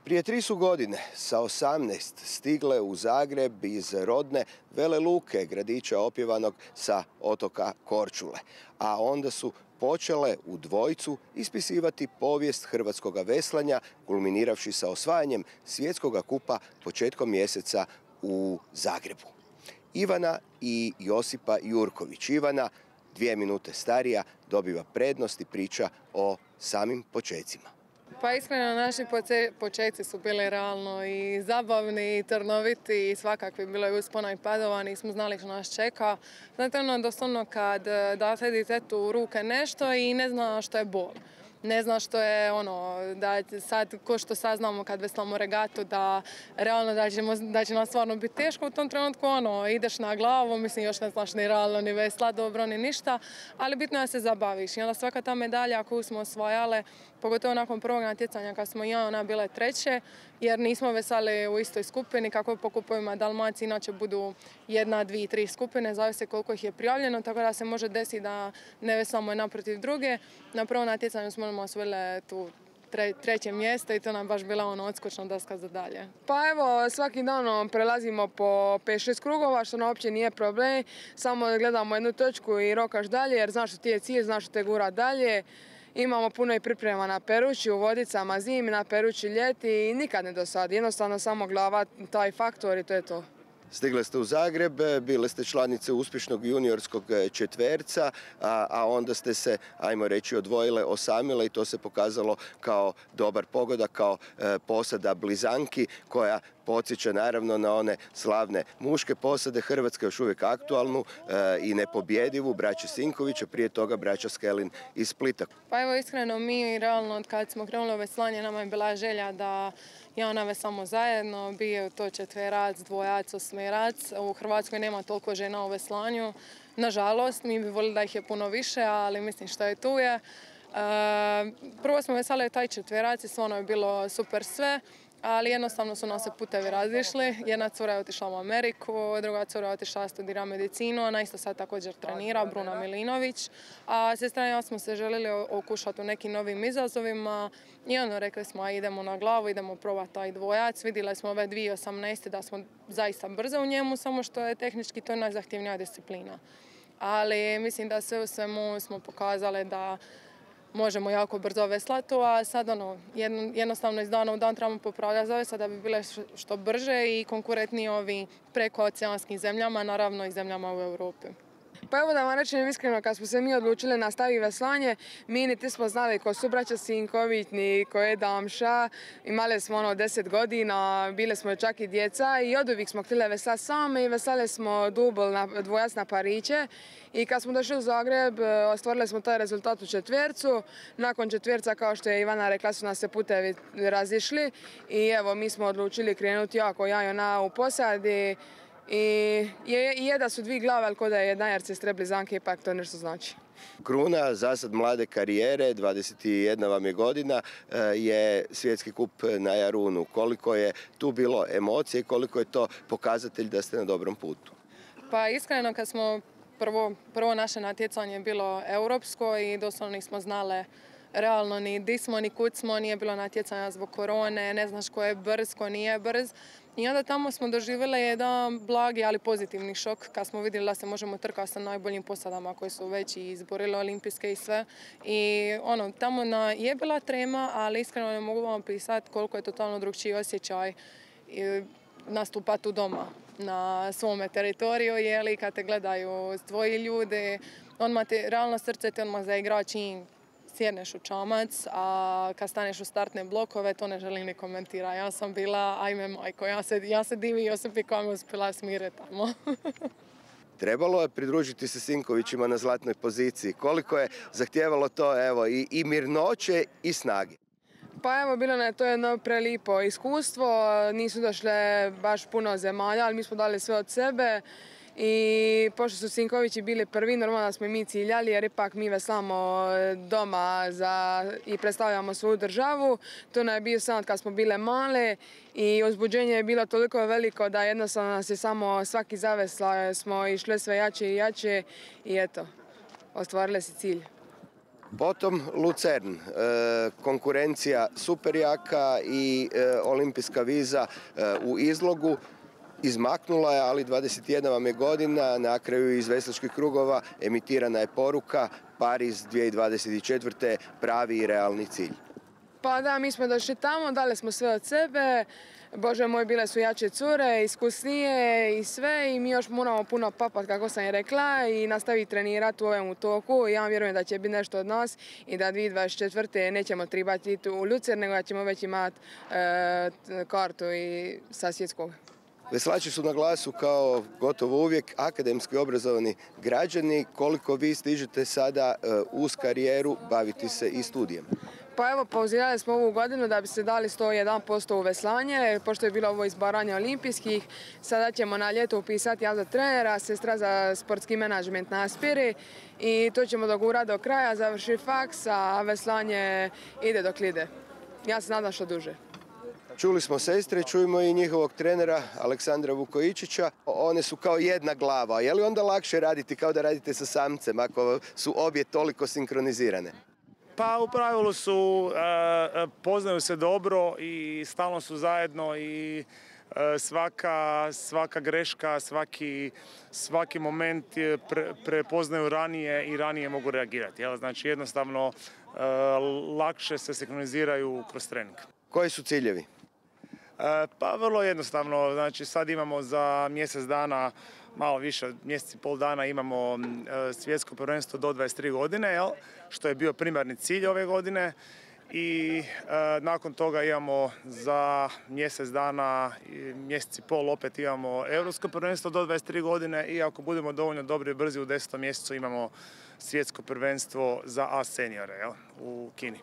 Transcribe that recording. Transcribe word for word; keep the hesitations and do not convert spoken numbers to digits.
Prije tri su godine sa osamnaest stigle u Zagreb iz rodne Vele Luke, gradića opjevanog sa otoka Korčule. A onda su počele u dvojcu ispisivati povijest hrvatskoga veslanja, kulminiravši sa osvajanjem svjetskoga kupa početkom mjeseca u Zagrebu. Ivana i Josipa Jurković. Ivana, dvije minute starija, dobiva prednost i priča o samim počecima. Pa iskreno, naši počeci su bili realno i zabavni, i trnoviti, i svakakvi. Bilo je uspona i padova, nismo znali što nas čeka. Znate ono, doslovno kad date ditetu u ruke nešto i ne zna što je bol. Ne zna što je ono, da sad, ko što saznamo kad veslamo regatu, da realno da, ćemo, da će nam stvarno biti teško u tom trenutku, ono, ideš na glavu, mislim još ne znaš ni realno, ni vesla dobro, ni ništa, ali bitno je da se zabaviš. I onda svaka ta medalja koju smo osvajale, pogotovo nakon prvog natjecanja kad smo ja ona bile treće, jer nismo vesali u istoj skupini, kako po kupovima Dalmaciji, inače budu jedna, dvije, tri skupine, zavisi koliko ih je prijavljeno, tako da se može desiti da ne veslamo jedna protiv druge. Na prvom natjecanju smo osvojile tu tre, treće mjesto i to nam baš bila ono odskočna daska za dalje. Pa evo, svaki dan prelazimo po pet šest krugova, što nam uopće nije problem, samo gledamo jednu točku i rokaš dalje, jer znaš što ti je cilj, znaš što te gura dalje. Imamo puno i priprema na Perući, u Vodicama zimi, na Perući ljeti i nikad ne dosadi. Jednostavno samo glava, taj faktor i to je to. Stigle ste u Zagreb, bile ste članice uspješnog juniorskog četverca, a, a onda ste se, ajmo reći, odvojile, osamile i to se pokazalo kao dobar pogodak, kao e, posada blizanki koja podsjeća naravno na one slavne muške posade Hrvatske, još uvijek aktualnu e, i nepobjedivu, braće Sinkovića, prije toga braća Skelin iz Splita. Pa evo iskreno, mi realno od kad smo krenuli u veslanje, nama je bila želja da ja ona veslamo zajedno, bio to četverac, dvojac, osmerac. U Hrvatskoj nema toliko žena u veslanju. Nažalost, mi bi volili da ih je puno više, ali mislim što je tu je. E, prvo smo veslali taj četverac i stvarno je bilo super sve, ali jednostavno su nam se putevi razišli. Jedna cura je otišla u Ameriku, druga cura je otišla studira medicinu, ona isto sad također trenira, Bruna Milinović. A sestra i ja smo se željeli okušati u nekim novim izazovima i ono, rekli smo idemo na glavu, idemo probati taj dvojac. Vidjeli smo ove dvije osamnaeste da smo zaista brze u njemu, samo što je tehnički to najzahtjevnija disciplina. Ali mislim da sve u svemu smo pokazali da možemo jako brzo veslati, a sad ono, jednostavno iz dana u dan trebamo popravljati zavesa da bi bile što brže i konkurentniji ovi prekooceanskim zemljama, naravno i zemljama u Europi. Pa evo da vam rečem iskreno, kad smo se mi odlučili nastaviti veslanje, mi niti smo znali ko su braća Sinković, ni ko je Damša. Imali smo ono deset godina, bile smo čak i djeca i od uvijek smo htjeli veslati same i veslali smo dubl na dvojac na pariće. I kad smo došli u Zagreb, ostvarili smo taj rezultat u četvercu. Nakon četverca, kao što je Ivana rekla, su nas se putevi razišli i evo mi smo odlučili krenuti jako ja i ona u posadi. I je, je da su dvije glave, ali ko da je jedna, jer se stre blizanke, ipak to nešto znači. Kruna, zasad mlade karijere, dvadeset jedna vam je godina, je svjetski kup na Jarunu. Koliko je tu bilo emocije i koliko je to pokazatelj da ste na dobrom putu? Pa iskreno, kad smo prvo, prvo naše natjecanje bilo europsko i doslovno nismo znale realno ni di smo, ni kud smo, nije bilo natjecanja zbog korone, ne znaš ko je brz, ko nije brz. I onda tamo smo doživjeli jedan blagi, ali pozitivni šok kad smo vidjeli da se možemo trkati sa najboljim posadama koji su već i izborili olimpijske i sve. I ono, tamo na, je bila trema, ali iskreno ne mogu vam pisati koliko je totalno drugčiji osjećaj nastupati u doma na svome teritoriju, jeli kad te gledaju tvoji ljudi, odmah te, realno srce te odmah zaigra čim sjedneš u čamac, a kad staneš u startne blokove, to ne želim ni komentirati. Ja sam bila, ajme majko, ja se, ja se divim Josipi koja mi uspjela smiriti tamo. Trebalo je pridružiti se Sinkovićima na zlatnoj poziciji. Koliko je zahtijevalo to, evo, i, i mirnoće i snage? Pa evo, bilo je to jedno prelipo iskustvo, nisu došle baš puno zemalja, ali mi smo dali sve od sebe. I pošto su Sinkovići bili prvi, normalno da smo i mi ciljali jer ipak mi veslamo doma za, i predstavljamo svoju državu. To nam je bio sam kad smo bile male i uzbuđenje je bilo toliko veliko da jednostavno nas je samo svaki zavesla, smo išle sve jače i jače i eto, ostvarili se cilj. Potom Lucern, konkurencija super jaka i olimpijska viza u izlogu. Izmaknula je, ali dvadeset jedna vam je godina, na kraju iz veslačkih krugova emitirana je poruka Pariz dvije tisuće dvadeset četvrte pravi i realni cilj. Pa da, mi smo došli tamo, dali smo sve od sebe. Bože moj, bile su jače cure, iskusnije i sve i mi još moramo puno papat, kako sam je rekla, i nastaviti trenirati u ovom toku. Ja vjerujem da će biti nešto od nas i da dvije tisuće dvadeset četvrte nećemo trebati ići u Lucern, nego da ćemo već imati e, kartu i sa svjetskog. Veslači su na glasu kao gotovo uvijek akademski obrazovani građani. Koliko vi stižete sada uz karijeru baviti se i studijem? Pa evo, pauzirali smo ovu godinu da bi se dali sto jedan posto u veslanje, pošto je bilo ovo izbaranje olimpijskih. Sada ćemo na ljeto upisati ja za trenera, sestra za sportski menadžment na Aspiri i to ćemo dogurati do kraja, završi faks, a veslanje ide dok ide. Ja se nadam što duže. Čuli smo sestre, čujemo i njihovog trenera Aleksandra Vukojičića. One su kao jedna glava. Je li onda lakše raditi kao da radite sa samcem ako su obje toliko sinkronizirane? Pa u pravilu su, poznaju se dobro i stalno su zajedno i svaka, svaka greška, svaki, svaki moment pre, prepoznaju ranije i ranije mogu reagirati. Jel? Znači jednostavno lakše se sinkroniziraju kroz trening. Koji su ciljevi? Pa vrlo jednostavno, znači sad imamo za mjesec dana, malo više od mjesec i pol dana imamo svjetsko prvenstvo do dvadeset tri godine, jel? Što je bio primarni cilj ove godine i e, nakon toga imamo za mjesec dana, mjesec i pol opet imamo europsko prvenstvo do dvadeset tri godine i ako budemo dovoljno dobri i brzi u desetom mjesecu imamo svjetsko prvenstvo za A seniore, jel? U Kini.